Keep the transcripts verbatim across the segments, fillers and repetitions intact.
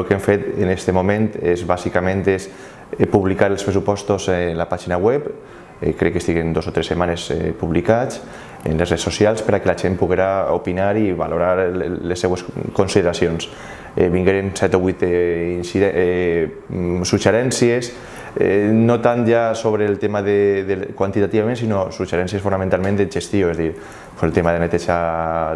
el que hem fet en aquest moment és bàsicament és publicar els pressupostos en la pàgina web, crec que estiguen dos o tres setmanes publicats en les redes socials per a que la gent poguera opinar i valorar les seues consideracions. Vingueren set o vuit suggerències, no tant ja sobre el tema quantitativament, sinó suggerències fonamentalment de gestió, és a dir, el tema de neteja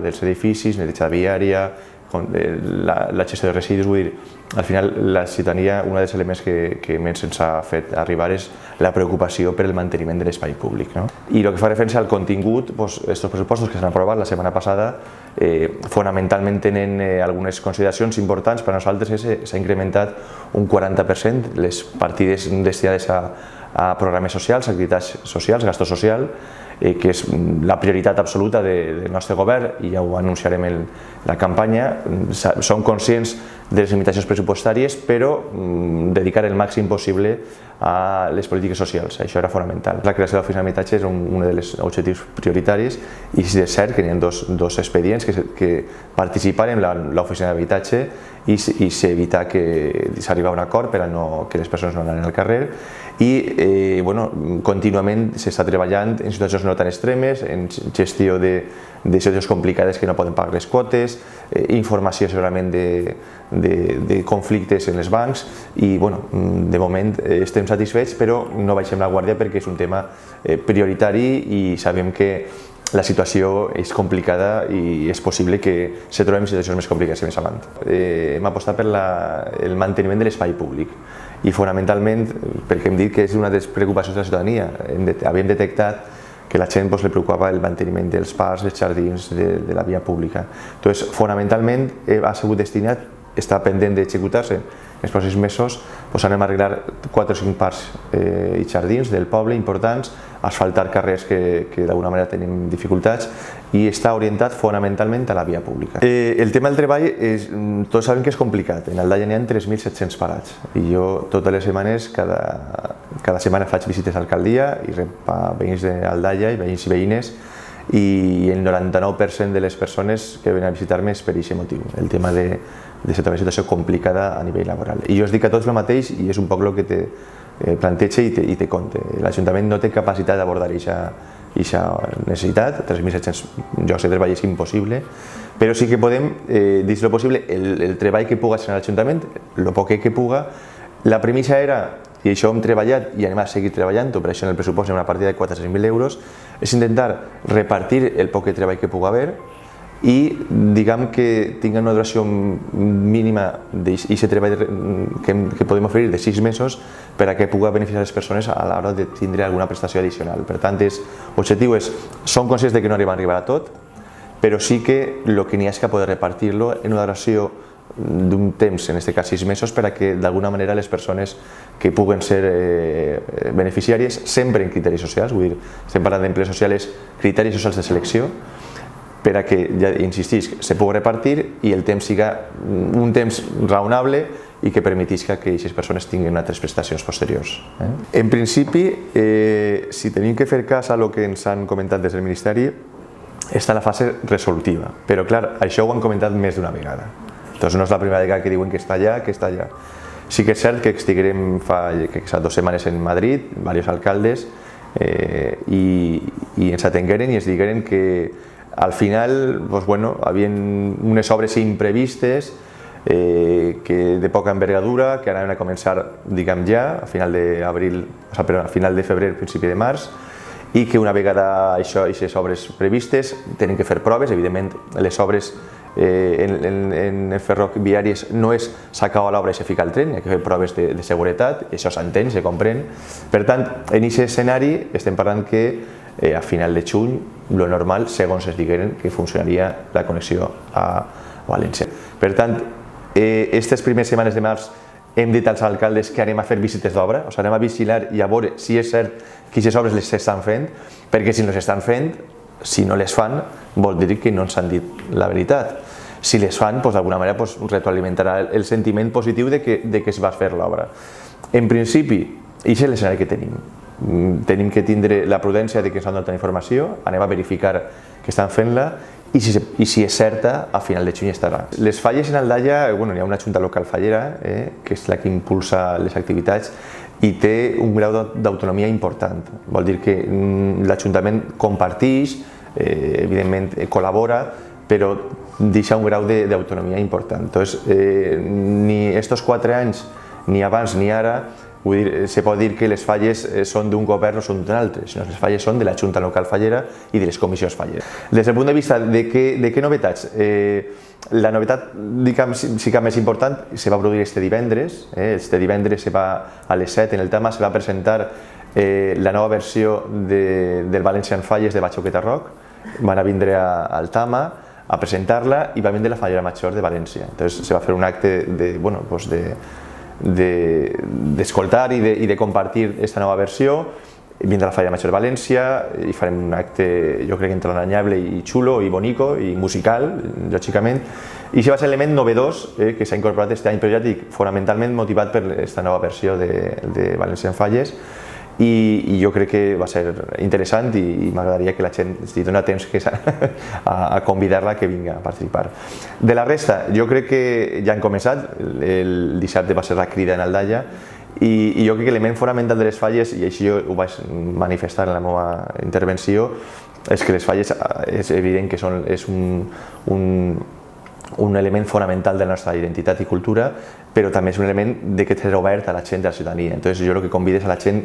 dels edificis, neteja viària, la gestió de residus. Vull dir, al final la ciutadania, un dels elements que més ens ha fet arribar és la preocupació per el manteniment de l'espai públic. I el que fa referència al contingut, aquests pressupostos que s'han aprovat la setmana passada fonamentalment tenen algunes consideracions importants. Per a nosaltres s'ha incrementat un quaranta per cent les partides destinades a programes socials, activitats socials, gasto social, que és la prioritat absoluta del nostre govern i ja ho anunciarem en la campanya. Som conscients de les limitacions pressupostàries, però dedicar el màxim possible a les polítiques socials, això era fonamental. La creació de l'oficina d'habitatge és un dels objectius prioritaris i és cert que hi ha dos expedients que participen en l'oficina d'habitatge i s'evita que s'arribi a un acord per a que les persones no anin al carrer i contínuament s'està treballant en situacions no tan extremes, en gestió de situacions complicades que no poden pagar les quotes, informació segurament de conflictes en els bancs i de moment estem satisfets, però no baixem la guàrdia perquè és un tema prioritari i sabem que la situació és complicada i és possible que se trobem situacions més complicades més avant. Hem apostat per el manteniment de l'espai públic i fonamentalment perquè hem dit que és una de les preocupacions de la ciutadania. Havíem detectat que a la gent li preocupava el manteniment dels parcs, dels jardins, de la via pública. Doncs, fonamentalment, ha sigut destinat, està pendent d'executar-se en els pròxims mesos, anem a arreglar quatre o cinc parcs i jardins del poble importants, asfaltar carrers que d'alguna manera tenim dificultats i està orientat fonamentalment a la via pública. El tema del treball, tots sabem que és complicat. En Aldaia n'hi ha tres mil set-cents parats i jo totes les setmanes, cada setmana faig visites a l'alcaldia i rep a veïns d'Aldaia i veïns i veïnes i el noranta-nou per cent de les persones que venen a visitar-me és per aquest motiu, el tema de una situació complicada a nivell laboral. I jo us dic a tots el mateix i és un poc el que te planteja i te conte. L'Ajuntament no té capacitat d'abordar aquesta necessitat, tres mil set-cents llocs de treball és impossible, però sí que podem, dins del possible, el treball que puga ser l'Ajuntament, el poc que puga. La premissa era, i això hem treballat i anem a seguir treballant, per això en el pressupost hi ha una partida de quatre-cents mil euros, és intentar repartir el poc treball que pugui haver i diguem que tingui una duració mínima d'aquest treball que podem oferir de sis mesos per a que pugui beneficiar les persones a l'hora de tindre alguna prestació addicional. Per tant, l'objectiu és, som conscients que no arribem a arribar a tot, però sí que el que n'hi ha és que poder repartir-lo en una duració d'un temps, en aquest cas sis mesos, per a que d'alguna manera les persones que puguen ser beneficiàries, sempre en criteris socials, vull dir, estem parlant d'emplees socials, criteris socials de selecció, per a que, ja insistisc, se pugui repartir i el temps siga un temps raonable i que permetisca que aquestes persones tinguin altres prestacions posteriors. En principi, si tenim que fer cas a el que ens han comentat des del Ministeri, està en la fase resolutiva, però clar, això ho han comentat més d'una vegada. Doncs no és la primera vegada que diuen que està allà, que està allà. Sí que és cert que estiguem fa dues setmanes en Madrid, diversos alcaldes, i ens atengueren i ens digueren que al final hi havia unes obres imprevistes de poca envergadura que anaven a començar, diguem ja, a final d'abril, a final de febrer, principi de març, i que una vegada aquestes obres previstes tenen que fer proves. Evidentment, les obres en els ferroviaris no és s'acaba l'obra i se fica el tren, hi ha que fer proves de seguretat, això s'entén, se comprèn. Per tant, en aquest escenari estem parlant que a final de juny, el normal, segons es digueren, que funcionaria la connexió a València. Per tant, aquestes primeres setmanes de març hem dit als alcaldes que anem a fer visites d'obra, o sigui, anem a vigilar i a veure si és cert que aquestes obres les estan fent, perquè si no les estan fent, si no les fan, vol dir que no ens han dit la veritat. Si les fan, d'alguna manera retroalimentarà el sentiment positiu de que es va fer l'obra. En principi, això és l'escenari que tenim. Tenim que tindre la prudència de que ens han donat informació, anem a verificar que estan fent-la i si, i si és certa, a final de juny estarà. Les falles en Aldaia, bueno, hi ha una junta local fallera, eh, que és la que impulsa les activitats i té un grau d'autonomia important. Vol dir que l'Ajuntament comparteix, eh, evidentment col·labora, però deixa un grau d'autonomia important. Entonces, eh, ni estos quatre anys, ni abans ni ara, vull dir, se pot dir que les falles són d'un govern o són d'un altre, sinó que les falles són de la Junta Local Fallera i de les comissions falleres. Des del punt de vista de què, de què novetats, eh, la novetat, diguem, sí que més important, se va produir este divendres, eh, este divendres se va a les set en el Tama, se va presentar eh, la nova versió de, del Valencian Falles de Batxoqueta Rock, van a vindre a, al Tama a presentar-la i va vindre la Fallera Major de València. Entonces se va fer un acte de, bueno, pues de d'escoltar de, i, de, i de compartir aquesta nova versió. Vindrà la Fallera Major de València i farem un acte, jo crec, entranyable i xulo i bonico i musical, lògicament. I això va ser l'element novedós eh, que s'ha incorporat aquest any, però ja dic, fonamentalment motivat per aquesta nova versió de, de Valencian Falles. I, i jo crec que va ser interessant i, i m'agradaria que la gent si dona temps que a, a convidar-la que vinga a participar. De la resta, jo crec que ja han començat, el dissabte va ser la crida en Aldaia i, i jo crec que l'element fonamental de les falles, i així ho vaig manifestar en la meva intervenció, és que les falles és evident que són, és un, un, un element fonamental de la nostra identitat i cultura, però també és un element de que és obert a la gent, a la ciutadania. Entonces jo el que convido és a la gent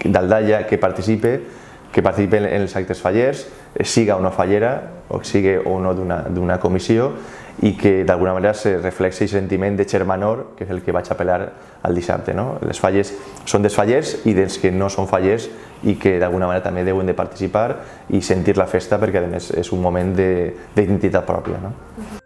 d'Aldaia que participe, que participe en els actes fallers, siga o no fallera, o sigui o no d'una comissió, i que d'alguna manera se reflexi el sentiment de germanor, que és el que vaig apel·lar al dissabte. No? Les falles són dels fallers i dels que no són fallers i que d'alguna manera també deuen de participar i sentir la festa perquè a més és un moment d'identitat pròpia. No?